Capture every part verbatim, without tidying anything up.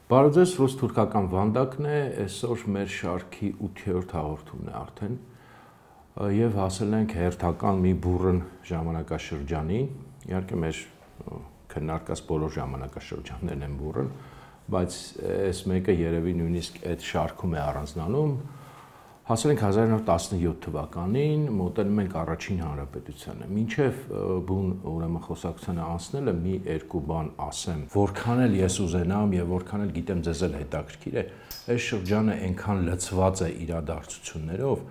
Բարև ձեզ, ռուս-թուրքական վանդակն է, այսօր մեր շարքի ութերորդ հաղորդումն է արդեն եւ հասել ենք հերթական մի բուռն ժամանակաշրջանին, իհարկե մեր քննարկած բոլոր ժամանակաշրջաններն են բուռն, բայց այս մեկը երևի նույնիսկ այդ շարքում է առանձնանում, հասել ենք հազար նորը տասնյոթ թվականին, մոտենում ենք առաջին հանրապետությանը, մինչև բուն ուրեմն խոսակցությանը անցնելը մի երկու բան ասեմ, որքան էլ ես ուզենամ եւ որքան էլ գիտեմ ձեզ էլ հետաքրքիր է, այս շրջանը այնքան լցված է իրադարձություններով,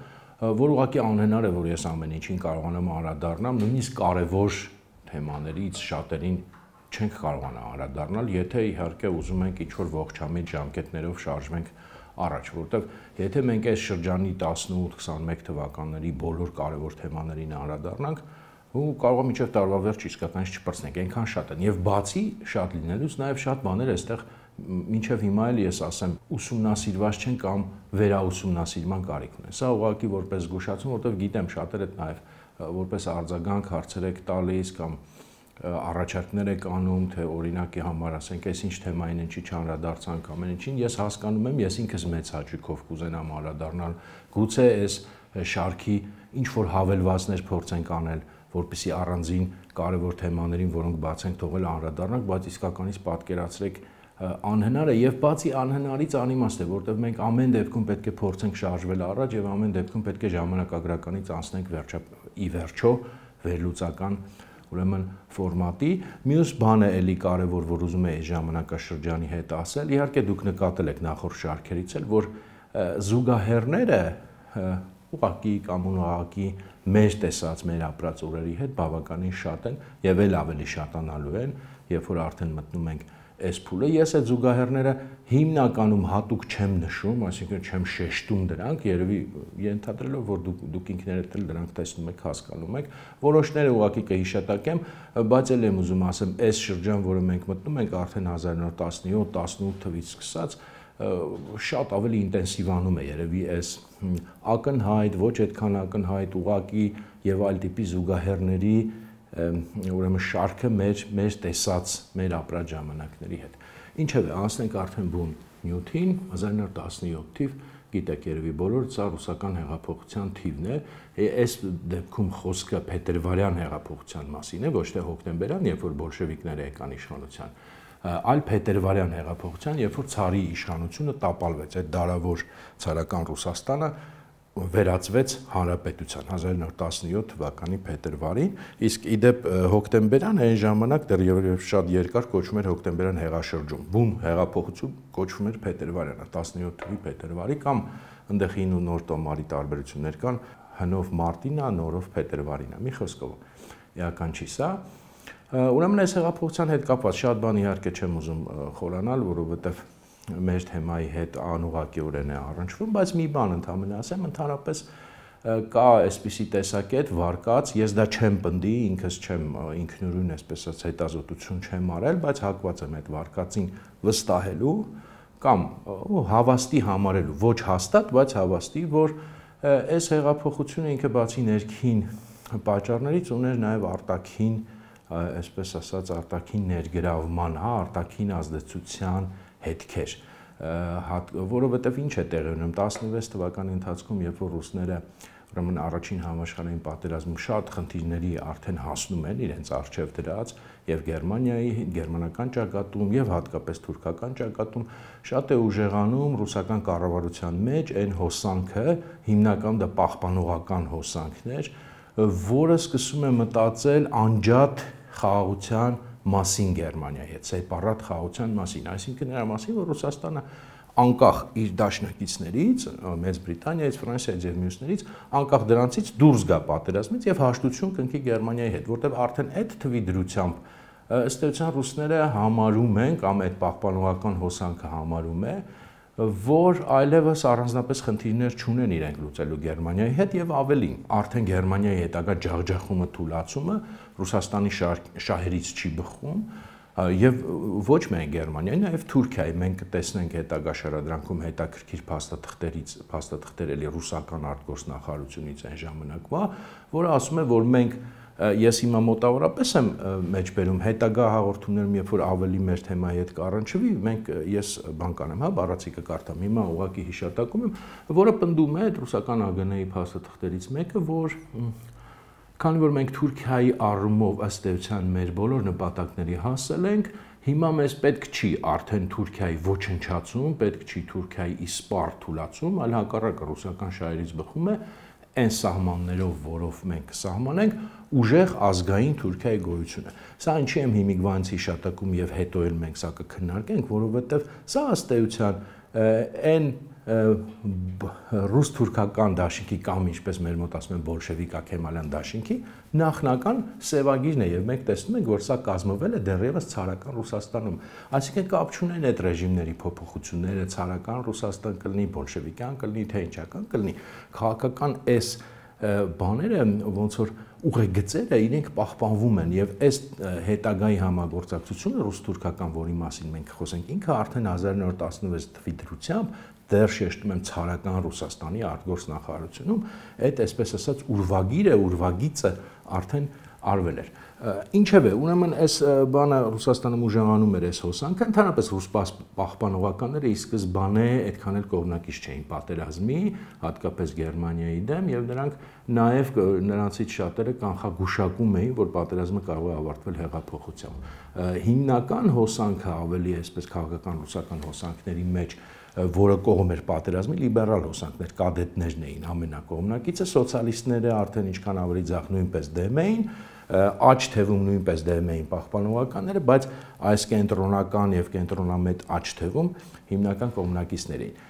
որ ուղղակի անհնար է, որ ես ամեն ինչին կարողանամ անդրադառնամ, նույնիսկ կարևոր թեմաներից շատերին չենք կարողանա անդրադառնալ, եթե իհարկե ուզում ենք ինչ-որ ողջամիտ ժամկետներով շարժվենք առաջ, որտեղ եթե մենք այս շրջանի տասնութ քսանմեկ թվականների բոլոր կարևոր թեմաներին անդրադառնանք, ու կարող է մինչև տարվա վերջ իսկականից չպրծնենք, այնքան շատ են եւ բացի շատ լինելուց նաեւ շատ բաներ այստեղ մինչև հիմա էլ ես ասեմ ուսումնասիրված չեն կամ վերաուսումնասիրման կարիք ունեն։ Սա ուղղակի որպես զգուշացում, որտեղ գիտեմ շատերը նաեւ որպես արձագանք հարցեր եք տալիս կամ առաջարկներ եք անում, թե օրինակի համար ասենք, այս ինչ թեմային ինչի չանդրադարձանք ամեն ինչին, ես հասկանում եմ, ես ինքս մեծ հաճույքով կուզենամ անդրադառնալ, գուցե այս շարքի ինչ որ հավելվածներ փորձենք անել, որպեսզի առանձին կարևոր թեմաներին, որոնք բաց ենք թողել անդրադառնանք, բայց իսկականից պատկերացրեք անհնար է եւ բացի անհնարից անիմաստ է, որտեղ մենք ամեն դեպքում պետք է փորձենք շարժվել առաջ եւ ամեն դեպքում պետք է ժամանակագրականից անցնենք վերջա ի վերջո վերլուծական ուրեմն ֆորմատի, մյուս բանը էլի կարևոր, որ ուզում եմ այս ժամանակաշրջանի հետ ասել, իհարկե դուք նկատել եք նախորդ շարքերից էլ, որ զուգահեռները ուղղակի կամ ուղղակի մեր տեսած, մեր ապրած օրերի հետ բավականին շատ են եւ էլ ավելի շատանալու են, երբ որ արդեն մտնում ենք այս փուլը, ես այդ զուգահեռները հիմնականում հատուկ չեմ նշում, այսինքն չեմ շեշտում դրանք, երևի ենթադրելով, որ դուք, դուք ինքներդ էլ դրանք տեսնում եք, հասկանում եք, որոշները ուղղակի կհիշատակեմ, բայց էլ եմ ուզում ասեմ, այս շրջան, որը մենք մտնում ենք արդեն հազար նորը տասնյոթ տասնութ թվից սկսած, շատ ավելի ինտենսիվանում է երևի այս ակնհայտ, ոչ այդքան ակնհայտ, ուղղակի եւ այլ տիպի զուգահեռների ուրեմն շարքը մեր մեր տեսած մեր ապրած ժամանակների հետ։ Ինչևէ, անցնենք արդեն բուն նյութին, հազար նորը տասնյոթ թիվ, գիտեք երևի բոլորը, սա ռուսական հեղափոխության թիվն է, այս դեպքում խոսքը փետրվարյան հեղափոխության մասին է, ոչ թե հոկտեմբերյան, երբ որ բոլշևիկները եկան իշխանության, այլ փետրվարյան հեղափոխության, երբ որ ցարի իշխանությունը տապալվեց, այդ դարավոր ցարական Ռուսաստանը վերածվեց հանրապետության հազար նորը տասնյոթ թվականի փետրվարին, իսկ իդեպ հոկտեմբերյան այն ժամանակ դեռ շատ երկար կոչվում էր հոկտեմբերյան հեղաշրջում, բուն հեղափոխություն կոչվում էր փետրվարյանը, տասնյոթ թվականի փետրվարի կամ այնտեղ հին ու նոր տոմարի տարբերություններ կան, հնով մարտին է, նորով փետրվարին է, մի խոսքով էական չի սա։ Ուրեմն այս հեղափոխության հետ կապված շատ բան իհարկե չեմ ուզում խորանալ, որովհետև մեր թեմայի հետ անուղղակիորեն է առնչվում, բայց մի բան ընդհանրապես ասեմ, ընդհանրապես կա այսպիսի տեսակետ վարկած, ես դա չեմ պնդի, ինքս չեմ ինքնուրույն, այսպես ասած, հետազոտություն չեմ արել, բայց հակված եմ այդ վարկածին վստահելու կամ հավաստի համարելու, ոչ հաստատ, բայց հավաստի, որ այս հեղափոխությունը ինքը բացի ներքին պատճառներից ուներ նաև արտաքին, այսպես ասած, արտաքին ներգրավման, հա, արտաքին ազդեցության հետքեր, որովհետև ինչ է տեղի ունենում տասնվեց թվականի ընթացքում, երբ որ ռուսները ուրեմն առաջին համաշխարհային պատերազմում շատ խնդիրների արդեն հասնում են իրենց առջև դրած եւ Գերմանիայի, գերմանական ճակատում եւ հատկապես թուրքական ճակատում շատ է ուժեղանում ռուսական կառավարության մեջ այն հոսանքը, հիմնական դա պահպանողական հոսանքն էր, որը սկսում է մտածել անջատ խաղաղության մասին Գերմանիայի հետ, սեպարատ խաղաղության մասին, այսինքն նրա մասին, որ Ռուսաստանը անկախ իր դաշնակիցներից, Մեծ Բրիտանիայից, Ֆրանսիայից եւ մյուսներից, անկախ դրանցից դուրս գա պատերազմից եւ հաշտություն կնքի Գերմանիայի հետ, որտեղ արդեն այդ թվի դրությամբ ըստ էության ռուսները համարում են կամ այդ պահպանողական հոսանքը համարում է, որ այլևս առանձնապես խնդիրներ չունեն իրենք լուծելու Գերմանիայի հետ եւ ավելին, արդեն Գերմանիայի հետագա ջախջախումը, թուլացումը Ռուսաստանի շահերից չի բխում, Եվ ոչ միայն Գերմանիայի, նաև Թուրքիայի մենք կտեսնենք հետագա շարադրանքում հետաքրքիր փաստաթղթերից, փաստաթղթեր էլի ռուսական արտգործնախարարությունից այն ժամանակվա, որը ասում է, որ մենք ես հիմա մոտավորապես եմ մեջբերում հետագա հաղորդումներում, երբ որ ավելի մեր թեմայի հետ կառնչվի, մենք ես բան կանեմ, հա, բառացիկը կարդամ, հիմա ուղղակի հիշատակում եմ, որը պնդում է այդ ռուսական ա գ ն-ի փաստաթղթերից մեկը, որ քանի որ մենք Թուրքիայի առումով ըստ էության մեր բոլոր նպատակների հասել ենք, հիմա մեզ պետք չի արդեն Թուրքիայի ոչնչացում, պետք չի Թուրքիայի իսպառ թուլացում, այլ հակառակը ռուսական շահերից բխում է այն սահմաններով, որով մենք կսահմանենք ուժեղ ազգային Թուրքիայի գոյությունը։ Սա ինչի եմ հիմիկվանից հիշատակում եւ հետո էլ մենք սա կքննարկենք, որովհետեւ սա ըստ էության այն ռուս-թուրքական դաշինքի կամ ինչպես մեր մոտ ասում են բոլշևիկա-քեմալյան դաշինքի նախնական սևագիրն է եւ մենք տեսնում ենք, որ սա կազմվել է դեռևս ցարական Ռուսաստանում։ Այսինքն կապ չունեն այդ ռեժիմների փոփոխությունները, ցարական Ռուսաստան կլինի, բոլշևիկյան կլինի, թե ինչական կլինի, քաղաքական այս բաները ոնց որ ուղեգծերը իրենք պահպանվում են եւ այս հետագայի համագործակցությունը ռուս-թուրքական, որի մասին մենք խոսենք, ինքը արդեն հազար նորը տասնվեց թվականի դրությամբ դեռ շեշտում եմ ցարական Ռուսաստանի արտգործնախարարությունում այդ այսպես ասած ուրվագիրը, ուրվագիծը արդեն արվել էր։ Ինչևէ, ուրեմն այս բանը Ռուսաստանում ուժեղանում էր այս հոսանքը, ընդհանրապես ռուս պահպանողականները ի սկզբանե այդքան էլ կողմնակից չէին պատերազմի, հատկապես Գերմանիայի դեմ, եւ նրանք նաեւ նրանցից շատերը կանխագուշակում էին, որ պատերազմը կարող է ավարտվել հեղափոխությամբ։ Հիմնական հոսանքը ավելի այսպես քաղաքական ռուսական հոսանքների մեջ, որը կողմ էր պատերազմի, լիբերալ հոսանքներ, կադետներն էին ամենակողմնակիցը, սոցիալիստները արդեն ինչքան ավելի ձախ նույնպես դեմ էին, աջ թևում նույնպես դեմ էին պահպանողականները, բայց այս կենտրոնական եւ կենտրոնամետ աջ թևում հիմնական կողմնակիցներ էին։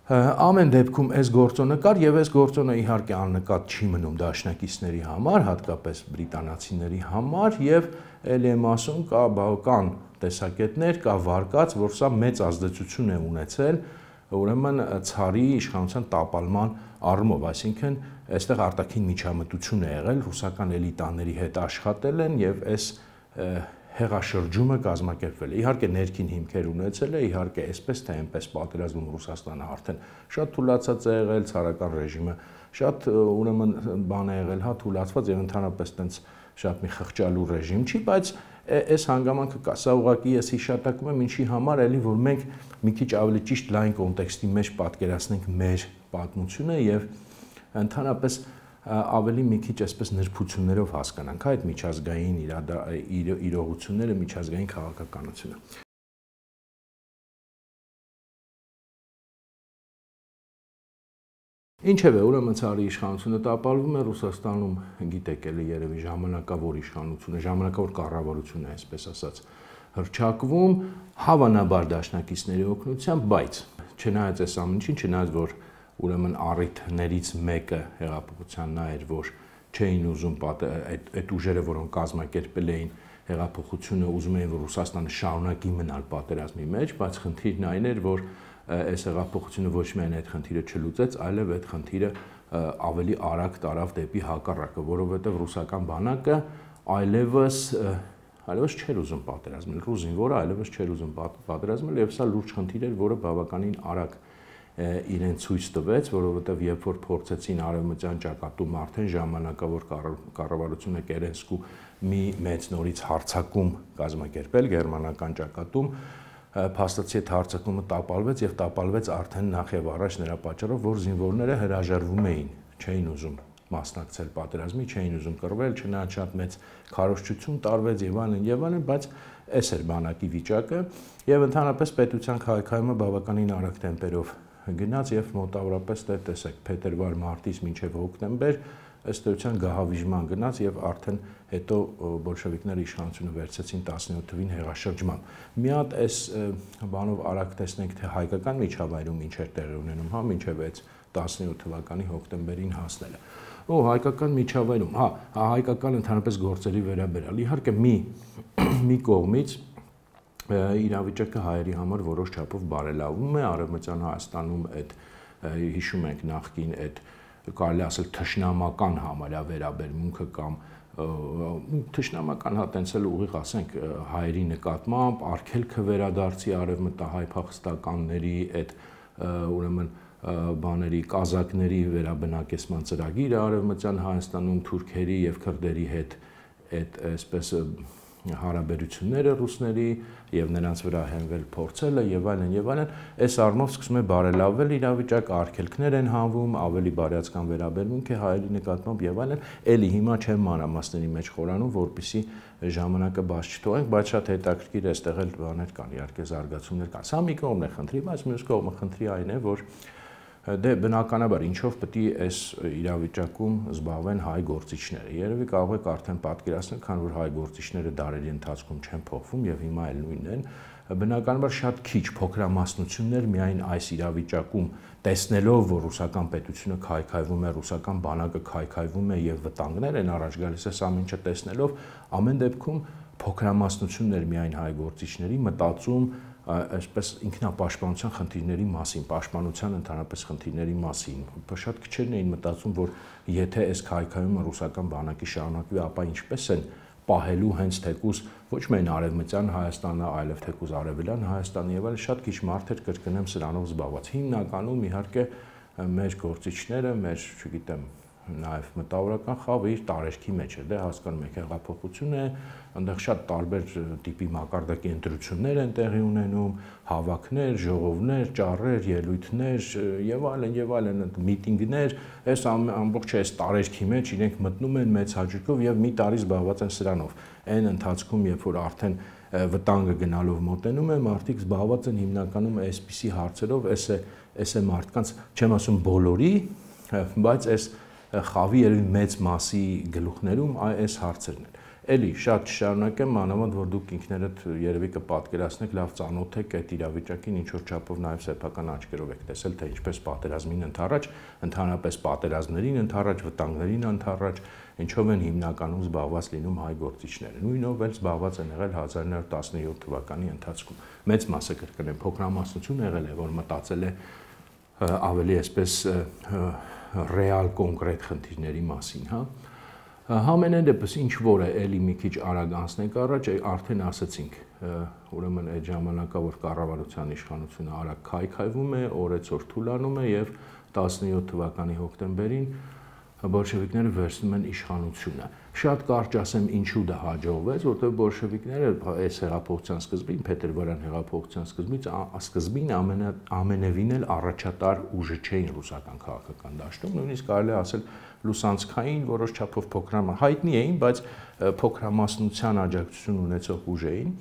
Ամեն դեպքում այս գործոնը կար եւ այս գործոնը իհարկե աննկատ չի մնում դաշնակիցների համար, հատկապես բրիտանացիների համար եւ ելի եմ ասում կա բավական տեսակետներ, կա վարկած, որ սա մեծ ազդեցություն է ունեցել ուրեմն ցարի իշխանության տապալման առումով, այսինքն այստեղ արտաքին միջամտություն է եղել, ռուսական էլիտաների հետ աշխատել են եւ այս հեղաշրջումը կազմակերպվել է։ Իհարկե ներքին հիմքեր ունեցել է, իհարկե այսպես թե այնպես պատերազմում Ռուսաստանը արդեն շատ թուլացած է եղել, ցարական ռեժիմը շատ ուրեմն բան է եղել, հա, թուլացված եւ ընդհանրապես տենց շատ մի խղճալու ռեժիմ չի, բայց այս հանգամանքը կա։ Սա ուղղակի ես հիշատակում եմ ինչի համար, էլի որ մենք մի քիչ ավելի ճիշտ լայն կոնտեքստի մեջ պատկերացնենք մեր պատմությունը եւ ընդհանրապես ավելի մի քիչ այսպես նրբություններով հասկանանք այդ միջազգային իրողությունները, միջազգային քաղաքականությունը։ Ինչևէ, ուրեմն ցարի իշխանությունը տապալվում է Ռուսաստանում, գիտեք էլի երևի ժամանակավոր իշխանությունը, ժամանակավոր կառավարությունը, այսպես ասած, հռչակվում, հավանաբար դաշնակիցների օգնությամբ, բայց չնայած այս ամեն ինչին, չնայած որ ուրեմն առիթներից մեկը հեղափոխության նա էր, որ չէին ուզում այդ այդ ուժերը, որոնք կազմակերպել էին հեղափոխությունը, ուզում էին, որ Ռուսաստանը շարունակի մնալ պատերազմի մեջ, բայց խնդիրն այն էր, որ այս հեղափոխությունը ոչ միայն այդ խնդիրը չլուծեց, այլև այդ խնդիրը ավելի արագ տարավ դեպի հակառակը, որովհետև ռուսական բանակը այլևս այլևս չէր ուզում պատերազմել, ռուս զինվորը այլևս չէր ուզում պատերազմել, եւ սա լուրջ խնդիր էր, որը բավականին արագ իրեն ցույց տվեց, որովհետև երբ որ փորձեցին արևմտյան ճակատում արդեն ժամանակավոր կառավարությունը Կերենսկու մի մեծ նորից հարձակում կազմակերպել գերմանական ճակատում, փաստացի այդ հարձակումը տապալվեց եւ տապալվեց արդեն նախ եւ առաջ նրա պատճառով, որ զինվորները հրաժարվում էին, չէին ուզում մասնակցել պատերազմի, չէին ուզում կռվել, չնայած շատ մեծ քարոզչություն տարվեց եւ այլն եւ այլն, բայց այս էր բանակի վիճակը եւ ընդհանրապես պետության քայքայումը բավականին արագ տեմպերով գնաց եւ մոտավորապես դե տեսեք փետրվար-մարտից մինչեւ հոկտեմբեր ըստ էության գահավիժման գնաց եւ արդեն հետո բոլշևիկները իշխանությունը վերցեցին տասնյոթ թվին հեղաշրջմամբ։ Մի հատ այս բանով արագ տեսնենք թե հայկական միջավայրում ինչ էր տեղի ունենում, հա, մինչեւ այս տասնյոթ թվականի հոկտեմբերին հասնելը։ Օ հայկական միջավայրում, հա, հայկական ընդհանրապես գործերի վերաբերյալ։ Իհարկե մի մի կողմից իրավիճակը հայերի համար որոշ չափով բարելավում է, Արևմտյան Հայաստանում այդ հիշում ենք նախկին այդ կարելի ասել թշնամական համարյա վերաբերմունքը կամ թշնամական հա տենց էլ ուղիղ ասենք հայերի նկատմամբ արգելքը վերադարձի արևմտահայ փախստականների այդ ուրեմն բաների կազակների վերաբնակեցման ծրագիրը արևմտյան Հայաստանում թուրքերի եւ քրդերի հետ այդ այսպես հարաբերությունները ռուսների եւ նրանց վրա հենվել փորձելը եւ այլն եւ այլն այս առումով սկսում է բարելավել իրավիճակը արգելքներ են հանվում ավելի բարյացկան վերաբերմունք է հայերի նկատմամբ եւ այլն էլի հիմա չեմ մանրամասների մեջ խորանում որպեսի ժամանակը բաց չթողենք բայց շատ հետաքրքիր է այստեղ էլ բաներ կան իհարկե զարգացումներ կան սա մի կողմն է խնդրի բայց մյուս կողմը խնդրի այն է որ դե բնականաբար ինչով պետք է այս իրավիճակում զբաղվեն հայ գործիչները։ Երևի կարող եք արդեն պատկերացնել, քան որ հայ գործիչները դարերի ընթացքում չեն փոխվում եւ հիմա էլ նույնն են, բնականաբար շատ քիչ փոքրամասնություններ միայն այս իրավիճակում տեսնելով, որ ռուսական պետությունը քայքայվում է, ռուսական բանակը քայքայվում է եւ վտանգներ են առաջ գալիս, այս ամեն ինչը տեսնելով, ամեն դեպքում փոքրամասնություններ միայն հայ գործիչների մտածում այսպես ինքնապաշտպանության խնդիրների մասին, պաշտպանության ընդհանրապես խնդիրների մասին, շատ քչերն էին մտածում, որ եթե այս քայքայումը ռուսական բանակի շարունակվի, ապա ինչպես են պահելու հենց թեկուզ ոչ միայն արևմտյան Հայաստանը, այլև թեկուզ արևելյան Հայաստանը եւ այլ շատ քիչ մարդեր կրկնեմ սրանով զբաղված։ Հիմնականում իհարկե մեր գործիչները, մեր, չգիտեմ, նաև մտավորական խավը իր տարերքի մեջ է, դե հասկանում եք հեղափոխություն է, այնտեղ շատ տարբեր տիպի մակարդակի ընտրություններ են տեղի ունենում, հավաքներ, ժողովներ, ճառեր, ելույթներ եւ այլն եւ այլն, միտինգներ, այս ամբողջ այս տարերքի մեջ իրենք մտնում են մեծ հաճույքով եւ մի տարի զբաղված են սրանով։ Այն ընթացքում, երբ որ արդեն վտանգը գնալով մոտենում է, մարդիկ զբաղված են հիմնականում այսպիսի հարցերով, այս է, այս է մարդկանց, չեմ ասում բոլորի, բայց այս խավի երևի մեծ մասի գլուխներում այս հարցերն են։ Էլի շատ շարունակեմ, մանավանդ որ դուք ինքներդ երևի կպատկերացնեք, լավ ծանոթ եք այդ իրավիճակին, ինչ որ չափով նաև սեփական աչքերով եք տեսել, թե ինչպես պատերազմին ընթառաջ, ընդհանրապես պատերազմներին ընթառաջ, վտանգներին ընթառաջ, ինչով են հիմնականում զբաղված լինում հայ գործիչները։ Նույնով էլ զբաղված են եղել հազար նոր տասնյոթ թվականի ընթացքում։ Մեծ մասը կրկնեմ, փոքրամասնություն եղել է, որ մտածել է ավելի այսպես ռեալ կոնկրետ խնդիրների մասին, հա։ Համենայն դեպս ինչ որ է էլի մի քիչ արագ անցնենք առաջ, արդեն ասացինք, ուրեմն այդ ժամանակա որ կառավարության իշխանությունը արագ քայքայվում է, օրեցօր թուլանում է եւ տասնյոթ թվականի հոկտեմբերին բոլշևիկները վերցնում են իշխանությունը։ Շատ կարճ ասեմ ինչու դա հաջողվեց, որտեղ բոլշևիկները այս հեղափոխության սկզբին, փետրվարյան հեղափոխության սկզբից սկզբին ամենևին էլ առաջատար ուժը չէին ռուսական քաղաքական դաշտում, նույնիսկ կարելի է ասել լուսանցքային որոշ չափով փոքրամա հայտնի էին, բայց փոքրամասնության աջակցություն ունեցող ուժ էին։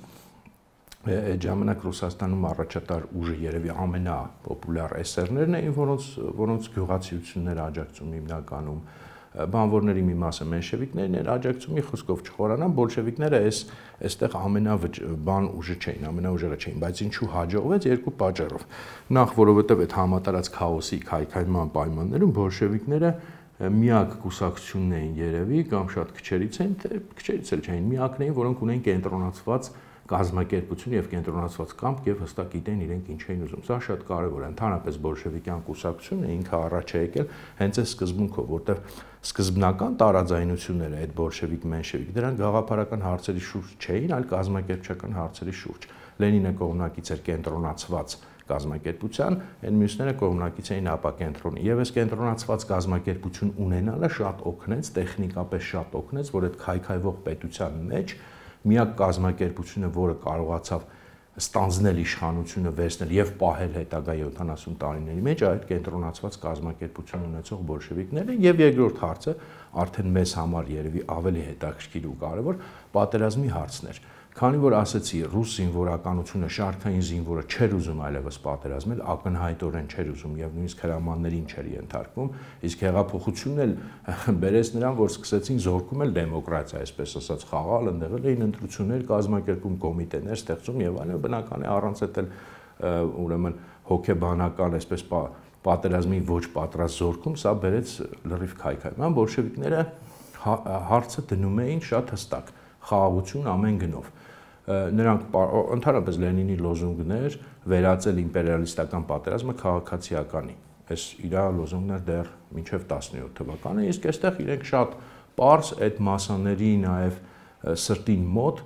Այդ ժամանակ Ռուսաստանում առաջատար ուժը երևի ամենապոպուլյար էսերներն էին, որոնց որոնց գյուղացիությունները աջակցում հիմնականում բանվորների մի մասը մենշևիկներն էր աջակցում, մի խոսքով չխորանան, բոլշևիկները այս այստեղ ամենաբան ուժը չէին, ամենաուժերը չէին, բայց ինչու հաջողվեց երկու պատճառով։ Նախ, որովհետև այդ համատարած քաոսի քայքայման պայմաններում բոլշևիկները միակ կուսակցությունն էին երևի կամ շատ քչերից են, թե քչերից էլ չէին, միակն էին, որոնք ունեն կենտրոնացված կազմակերպություն եւ կենտրոնացված կամք եւ հստակ գիտեն իրենք ինչ էին ուզում։ Սա շատ կարեւոր է։ Ընդհանրապես բոլշևիկյան կուսակցությունը ինքը առաջ է եկել հենց այս սկզբունքով, որտեղ սկզբնական տարաձայնությունները այդ բոլշևիկ-մենշևիկ դրանք գաղափարական հարցերի շուրջ չէին, այլ կազմակերպչական հարցերի շուրջ։ Լենինը կողմնակից էր կենտրոնացված կազմակերպության, այն մյուսները կողմնակից էին ապակենտրոնի։ Եվ այս կենտրոնացված կազմակերպություն ունենալը շատ օգնեց, տեխնիկապես շատ օգնեց, որ այդ քայքայվող պետության մեջ միակ կազմակերպությունը, որը կարողացավ ստանձնել իշխանությունը, վերցնել եւ պահել հետագա յոթանասուն տարիների մեջ այդ կենտրոնացված կազմակերպություն ունեցող բոլշևիկները եւ երկրորդ հարցը արդեն մեզ համար երևի ավելի հետաքրքիր ու կարեւոր պատերազմի հարցն էր։ Քանի որ ասացի, ռուս զինվորականությունը շարքային զինվորը չէր ուզում այլևս պատերազմել, ակնհայտորեն չէր ուզում եւ նույնիսկ հրամաններին չէր ենթարկվում, իսկ հեղափոխությունն էլ բերեց նրան, որ սկսեցին զորքում էլ դեմոկրատիա, այսպես ասած, խաղալ, ընդեղել էին ընտրություններ, կազմակերպում կոմիտեներ, ստեղծում եւ այլն, բնական է առանց այդ էլ ուրեմն հոգեբանական, այսպես պատերազմի ոչ պատրաստ զորքում, սա բերեց լրիվ քայքայման, բոլշևիկները հարցը դնում էին շատ հստակ, խաղաղություն ամեն գնով։ Նրանք ընդհանրապես Լենինի լոզունգներ վերածել իմպերիալիստական պատերազմը քաղաքացիականի։ Այս իր լոզունգներ դեռ մինչև տասնյոթ թվականը, իսկ այստեղ իրենք շատ պարզ այդ մասաների նաև սրտին մոտ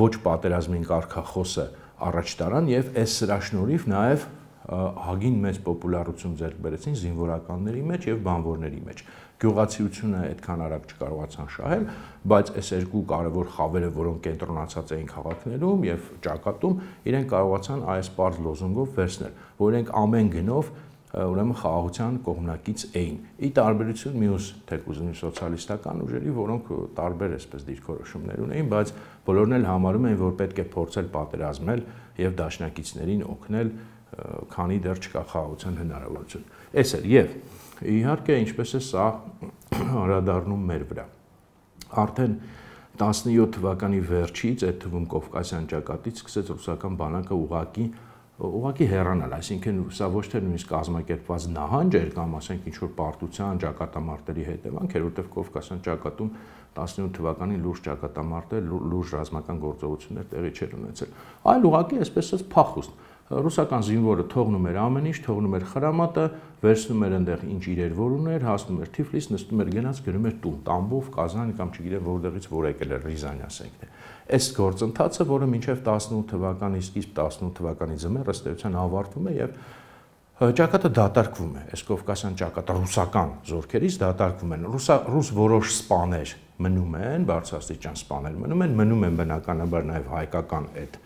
ոչ պատերազմին կարգախոսը առաջ տարան եւ այս սրա շնորհիվ նաև հագին մեծ պոպուլարություն ձեռք բերեցին զինվորականների մեջ եւ բանվորների մեջ։ Գյուղացիությունը այդքան արագ չկարողացան շահել, բայց այս երկու կարևոր խավերը, որոնք կենտրոնացած էին քաղաքներում եւ ճակատում, իրենք կարողացան այս պարզ լոզունգով վերցնել, որ իրենք ամեն գնով ուրեմն խաղաղության կողմնակից էին։ Ի տարբերություն մյուս թեկուզ սոցիալիստական ուժերի, որոնք տարբեր այսպես դիրքորոշումներ ունեին, բայց բոլորն էլ համարում էին, որ պետք է փորձել պատերազմել եւ դաշնակիցներին օգնել, քանի դեռ չկա խաղաղության հնարավորություն։ Այս էր եւ իհարկե ինչպես է սա անդրադառնում մեր վրա։ Արդեն տասնյոթ թվականի վերջից, այդ թվում Կովկասյան ճակատից սկսեց ռուսական բանակը ուղակի ուղղակի հեռանալ, այսինքն սա ոչ թե նույնիսկ կազմակերպված նահանջ էր կամ ասենք ինչ-որ պարտության ճակատամարտերի հետևանք էր, որտեղ Կովկասյան ճակատում տասնյոթ թվականին լուրջ ճակատամարտեր, լուրջ ռազմական գործողություններ տեղի չէր ունեցել, այլ ուղղակի այսպես ասած փախուստ։ Ռուսական զինվորը թողնում էր ամեն ինչ, թողնում էր խրամատը, վերցնում էր այնտեղ ինչ իրեր որ ուներ, հասնում էր Թիֆլիս, նստում էր գնաց գրում էր տուն, Տամբով, Կազան կամ չգիտեմ որտեղից որ եկել էր Ռիզան ասենք թե։ Այս գործընթացը, որը մինչև տասնութ թվականի սկիզբ տասնութ թվականի ձմեռ ըստ էության ավարտվում է եւ ճակատը դատարկվում է։ Այս Կովկասյան ճակատը ռուսական զորքերից դատարկվում են։ Ռուս որոշ սպաներ մնում են, բարձրաստիճան սպաներ մնում են, մնում են բնականաբար նաեւ հայկական այդ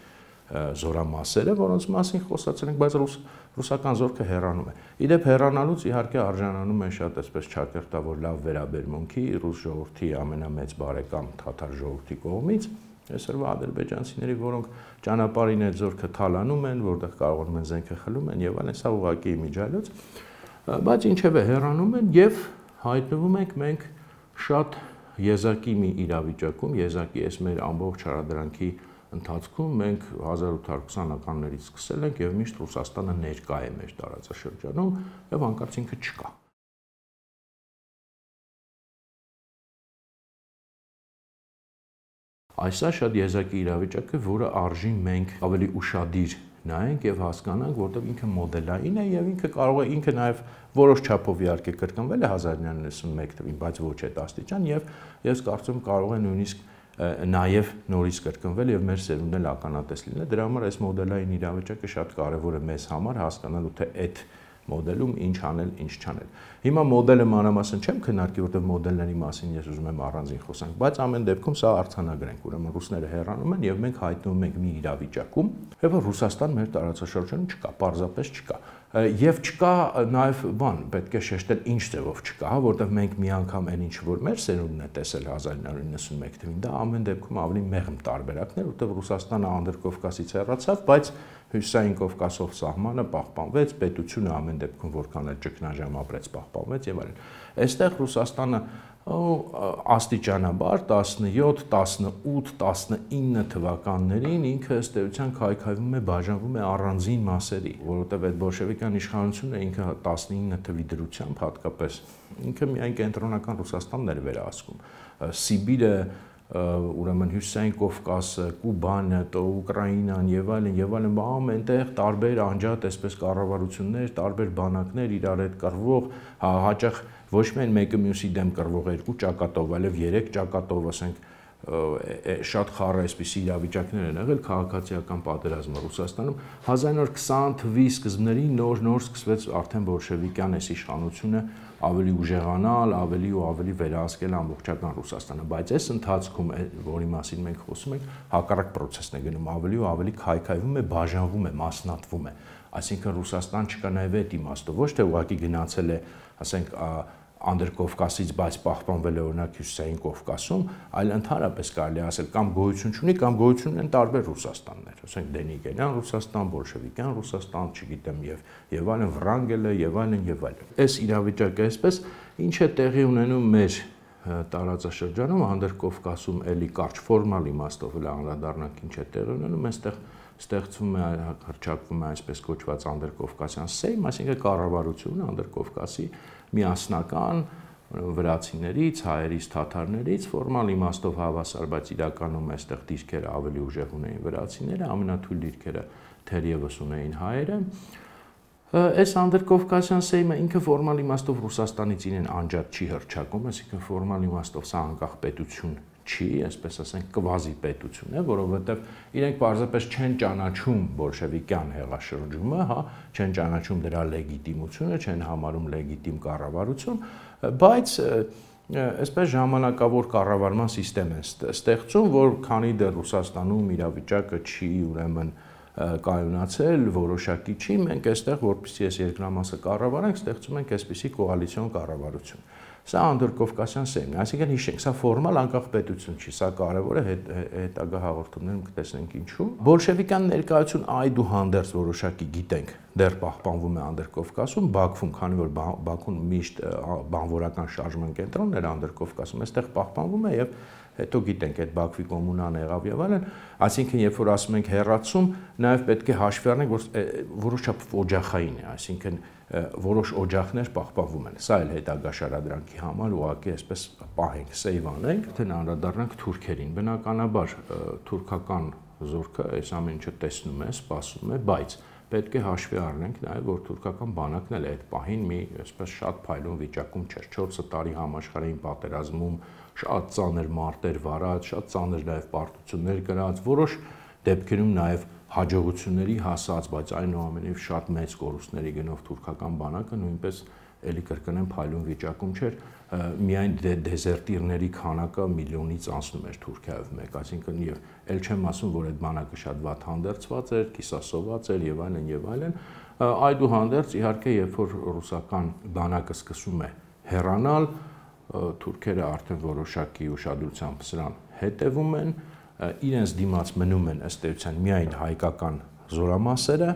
զորամասերը, որոնց մասին խոսացել ենք, բայց ռուս, ռուսական զորքը հեռանում է։ Իդեպ հեռանալուց իհարկե արժանանում են շատ այսպես չակերտավոր լավ վերաբերմունքի ռուս ժողովրդի ամենամեծ բարեկամ թաթար ժողովրդի կողմից, այսօրվա ադրբեջանցիների, որոնք ճանապարհին այդ զորքը թալանում են, որտեղ կարողանում են զենքը խլում են եւ այլն, սա ուղղակի միջալոց, բայց ինչևէ հեռանում են եւ հայտնվում ենք մենք շատ եզակի մի իրավիճակում, եզակի այս մեր ամբողջ հարադրանքի ընթացքում մենք հազար ութ հարյուր քսանականներից սկսել ենք եւ միշտ Ռուսաստանը ներկա է մեր տարածաշրջանում եւ հանկարծ ինքը չկա։ Այս է շատ եզակի իրավիճակը, որը արժի մենք ավելի ուշադիր նայենք եւ հասկանանք, որտեղ ինքը մոդելային է եւ ինքը կարող է ինքը նաեւ որոշ չափով իհարկե կրկնվել է հազար իննսուն նվաթ թվականին, բայց ոչ այդ աստիճան եւ ես կարծում կարող է նույնիսկ նաև նորից կրկնվել եւ մեր սերունդն էլ ականատես լինել։ Դրա համար այս մոդելային իրավիճակը շատ կարեւոր է մեզ համար հասկանալու, թե այդ մոդելում ինչ անել, ինչ չանել։ Հիմա մոդելը մանրամասն չեմ քննարկի, որտեղ մոդելների մասին ես ուզում եմ առանձին խոսանք, բայց ամեն դեպքում սա արձանագրենք, ուրեմն ռուսները հեռանում են եւ մենք հայտնվում ենք մի իրավիճակում, երբ Ռուսաստան մեր տարածաշրջանում չկա, պարզապես չկա։ Եվ չկա նաև բան, պետք է շեշտել ինչ ձևով չկա, որտեղ մենք մի անգամ այն ինչ որ մեր սերունդն է տեսել հազար իննսուն նվաթ թվականին, դա ամեն դեպքում ավելի մեղմ տարբերակներ, որտեղ Ռուսաստանը Անդրկովկասից հեռացավ, բայց Հյուսիսային Կովկասով սահմանը պահպանվեց, պետությունը ամեն դեպքում որքան էլ ճգնաժամ ապրեց, պահպանվեց եւ այլն։ Այստեղ Ռուսաստանը աստիճանաբար տասնյոթ, տասնութ, տասնինը թվականներին ինքը ըստ էության քայքայվում է, բաժանվում է առանձին մասերի, որովհետև այդ բոլշևիկյան իշխանությունը ինքը տասնինը թվի դրությամբ հատկապես ինքը միայն կենտրոնական Ռուսաստանն էր վերահսկում։ Սիբիրը, ուրեմն Հյուսիսային Կովկասը, Կուբանը, Ուկրաինան եւ այլն եւ այլն, բաղում այնտեղ տարբեր անջատ այսպես կառավարություններ, տարբեր բանակներ իրար հետ կռվող, հաճախ ոչ միայն մեկը մյուսի դեմ կռվող երկու ճակատով, այլև երեք ճակատով, ասենք, շատ խառը այսպիսի իրավիճակներ են եղել քաղաքացիական պատերազմը Ռուսաստանում։ հազար իննսուն քսան թվականի սկզբներին նոր-նոր սկսվեց արդեն բոլշևիկյան այս իշխանությունը ավելի ուժեղանալ, ավելի ու ավելի վերահսկել ամբողջական Ռուսաստանը, բայց այս ընթացքում, որի մասին մենք խոսում ենք, հակառակ process-ն է գնում, ավելի ու ավելի քայքայվում է, բաժանվում է, մասնատվում է։ Այսինքն Ռուսաստան չկա նաև այդ իմաստով, ոչ թե ուղղակի գնացել է, ասենք, Անդրկովկասից, բայց պահպանվել է օրինակ Հյուսիսային Կովկասում, այլ ընդհանրապես կարելի ասել կամ գոյություն չունի, կամ գոյություն ունեն տարբեր Ռուսաստաններ, ասենք Դենիգենյան Ռուսաստան, բոլշևիկյան Ռուսաստան, չգիտեմ, եւ եւ այլն, Վրանգելը եւ այլն եւ այլն։ Այս իրավիճակը այսպես ինչ է տեղի ունենում մեր տարածաշրջանում, Անդրկովկասում էլի կարճ ֆորմալ իմաստով էլ անդրադառնանք ինչ է տեղի ունենում, այստեղ ստեղծվում է, հռչակվում է այսպես կոչված Անդրկովկասյան Սեյմ, այսինքն կառավարությունը Անդրկովկասի միասնական վրացիներից, հայերից, թաթարներից, ֆորմալ իմաստով հավասար, բայց իրականում այստեղ դիրքերը ավելի ուժեղ ունեին վրացիները, ամենաթույլ դիրքերը թերևս ունեին հայերը, Այս Անդրկովկասյան Սեյմը ինքը ֆորմալ իմաստով Ռուսաստանից իրեն անջատ չի հռչակում, այսինքն ֆորմալ իմաստով սա անկախ պետություն չի, այսպես ասենք, կվազի պետություն է, որովհետև իրենք պարզապես չեն ճանաչում բոլշևիկյան հեղաշրջումը, հա, չեն ճանաչում դրա լեգիտիմությունը, չեն համարում լեգիտիմ կառավարություն, բայց այսպես ժամանակավոր կառավարման համակարգ են ստեղծում, որ քանի դեռ Ռուսաստանում իրավիճակը չի ուրեմն կայունացել, որոշակի չի, մենք այստեղ, որպեսզի այս երկրամասը կառավարենք, ստեղծում ենք այսպիսի կոալիցիոն կառավարություն։ Սա Անդրկովկասյան Սեյմն է, այսինքն հիշենք, սա ֆորմալ անկախ պետություն չի, սա կարևոր է, հետագա հաղորդումներում կտեսնենք ինչու։ Բոլշևիկյան ներկայություն այդուհանդերձ որոշակի գիտենք, դեռ պահպանվում է Անդրկովկասում, Բաքվում, քանի որ Բաքուն միշտ բանվորական շարժման կենտրոնն էր Անդրկովկասում, այստեղ պահպանվում է եւ հետո գիտենք այդ Բաքվի կոմունան եղավ եւ այլն, այսինքն երբ որ ասում ենք հեռացում, նաեւ պետք է հաշվի առնենք, որ որոշ չափով օջախային է, այսինքն որոշ օջախներ պահպանվում են։ Սա էլ հետագա շարադրանքի համար ուղղակի այսպես պահենք, սեյվ անենք, թե անդրադառնանք թուրքերին։ Բնականաբար թուրքական զորքը այս ամեն ինչը տեսնում է, սպասում է, բայց պետք է հաշվի առնենք նաև, որ թուրքական բանակն էլ այդ պահին մի այսպես շատ փայլուն վիճակում չէր։ չորս տարի համաշխարհային պատերազմում շատ ծանր մարտեր վարած, շատ ծանր նաև պարտություններ կրած, որոշ դեպքերում նաև հաջողությունների հասած, բայց այնուամենայնիվ շատ մեծ կորուստների գնով թուրքական բանակը նույնպես էլի կրկնեմ փայլուն վիճակում չէր, միայն դեզերտիրների քանակը միլիոնից անցնում էր Թուրքիայով մեկ, այսինքն եւ ել չեմ ասում, որ այդ բանակը շատ վատ հանդերձված էր, կիսասոված էր եւ այլն եւ այլն, այդուհանդերձ իհարկե երբ որ ռուսական բանակը սկսում է հեռանալ, թուրքերը արդեն որոշակի ուշադրությամբ սրան հետևում են, իրենց դիմաց մնում են ըստ էության միայն հայկական զորամասերը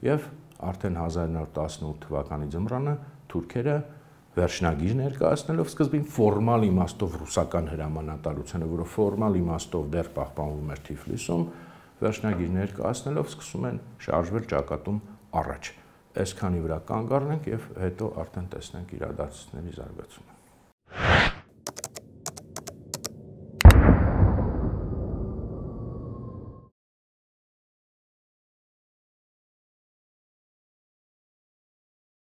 եւ արդեն հազար նոր տասնութ թվականի ձմռանը թուրքերը վերջնագիր ներկայացնելով սկզբին ֆորմալ իմաստով ռուսական հրամանատարությունը, որը ֆորմալ իմաստով դեռ պահպանվում էր Թիֆլիսում, վերջնագիր ներկայացնելով սկսում են շարժվել ճակատում առաջ։ Այսքանի վրա կանգ առնենք եւ հետո արդեն տեսնենք իրադարձությունների զարգացումը։